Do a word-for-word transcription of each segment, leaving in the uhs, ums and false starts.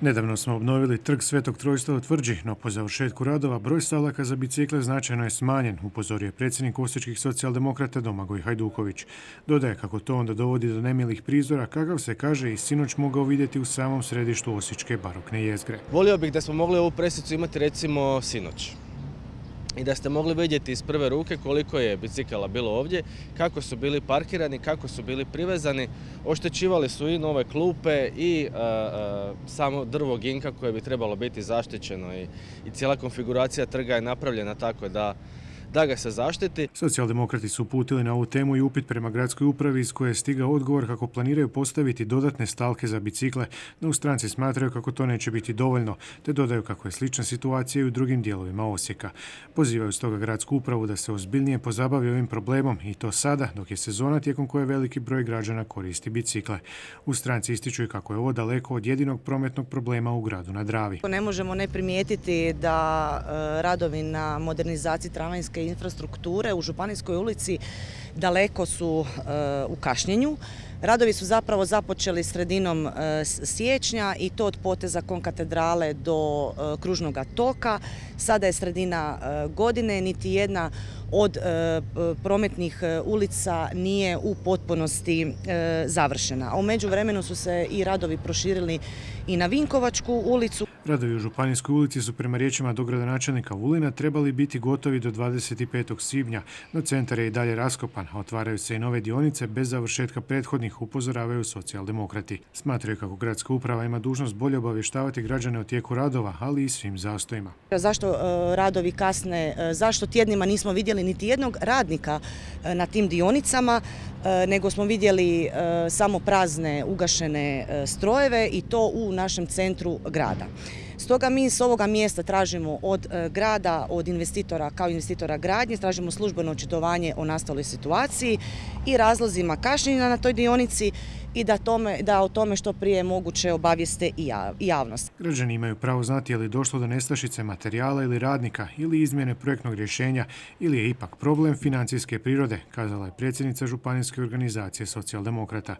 Nedavno smo obnovili trg Svetog Trojstva u Tvrđi, no po završetku radova broj stalaka za bicikle značajno je smanjen, upozorio je predsjednik osječkih socijaldemokrata Domagoj Hajduković. Dodaje kako to onda dovodi do nemilih prizora, kakav se kaže i sinoć mogao vidjeti u samom središtu osječke barokne jezgre. Volio bih da smo mogli ovu presicu imati recimo sinoć. I da ste mogli vidjeti iz prve ruke koliko je bicikala bilo ovdje, kako su bili parkirani, kako su bili privezani, oštećivali su i nove klupe i uh, uh, samo drvo ginka koje bi trebalo biti zaštićeno i, i cijela konfiguracija trga je napravljena tako da da ga se zaštiti. Socijaldemokrati su uputili na ovu temu i upit prema gradskoj upravi iz koje je stigao odgovor kako planiraju postaviti dodatne stalke za bicikle, no u stranci smatraju kako to neće biti dovoljno, te dodaju kako je slična situacija i u drugim dijelovima Osijeka. Pozivaju stoga gradsku upravu da se ozbiljnije pozabavi ovim problemom i to sada, dok je sezona tijekom koje veliki broj građana koristi bicikle. U stranci ističu i kako je ovo daleko od jedinog prometnog problema u gradu na Dravi. Ne možemo ne primijetiti da radovi na modernizaciji tramvajske infrastrukture u Županijskoj ulici daleko su u kašnjenju. Radovi su zapravo započeli sredinom siječnja i to od poteza Konkatedrale do Kružnog toka. Sada je sredina godine, niti jedna od prometnih ulica nije u potpunosti završena. A u međuvremenu su se i radovi proširili i na Vinkovačku ulicu. Radovi u Županijskoj ulici su prema riječima dogradonačelnika Vulina trebali biti gotovi do dvadeset petog svibnja, no centar je i dalje raskopan, a otvaraju se i nove dionice bez završetka prethodnih, upozoravaju socijaldemokrati. Smatraju kako gradska uprava ima dužnost bolje obavještavati građane o tijeku radova, ali i svim zastojima. Zašto radovi kasne, zašto tjednima nismo vidjeli niti jednog radnika na tim dionicama, nego smo vidjeli samo prazne ugašene strojeve i to u našem centru grada. Stoga mi s ovoga mjesta tražimo od grada, od investitora kao investitora gradnje, tražimo službeno očitovanje o nastaloj situaciji i razlozima kašnjenja na toj dionici i da, tome, da o tome što prije moguće obavijeste i javnost. Građani imaju pravo znati je li došlo do nestašice materijala ili radnika ili izmjene projektnog rješenja ili je ipak problem financijske prirode, kazala je predsjednica Županijske organizacije socijaldemokrata.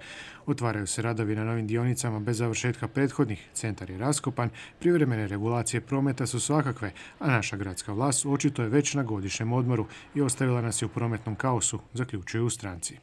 Otvaraju se radovi na novim dionicama bez završetka prethodnih, centar je raskopan, privremene regulacije prometa su svakakve, a naša gradska vlast očito je već na godišnjem odmoru i ostavila nas je u prometnom kaosu, zaključuju u stranci.